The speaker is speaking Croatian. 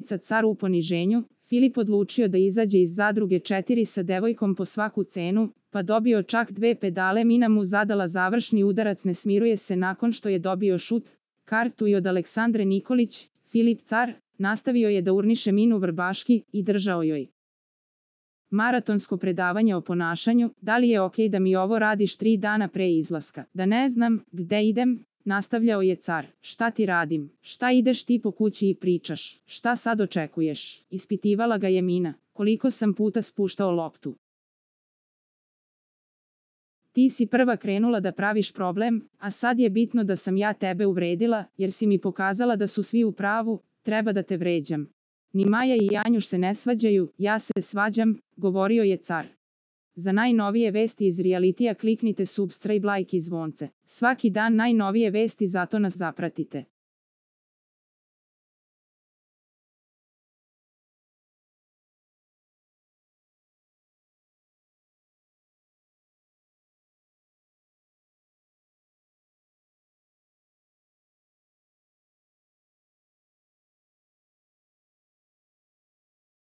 ulica Car u poniženju, Filip odlučio da izađe iz zadruge 4 sa devojkom po svaku cenu, pa dobio čak 2 pedale. Mina mu zadala završni udarac. Ne smiruje se nakon što je dobio šut, kartu i od Aleksandre Nikolić. Filip Car nastavio je da urniše Minu vrbaški i držao joj maratonsko predavanje o ponašanju. Da li je okej da mi ovo radiš 3 dana pre izlaska? Da ne znam gde idem, nastavljao je Car. Šta ti radim? Šta ideš ti po kući i pričaš? Šta sad očekuješ? Ispitivala ga je Mina. Koliko sam puta spuštao loptu? Ti si prva krenula da praviš problem, a sad je bitno da sam ja tebe uvredila, jer si mi pokazala da su svi u pravu, treba da te vređam. Ni Maja i Janjuš se ne svađaju, ja se svađam, govorio je Car. Za najnovije vesti iz realitija kliknite subscribe, like i zvonce. Svaki dan najnovije vesti, zato nas zapratite.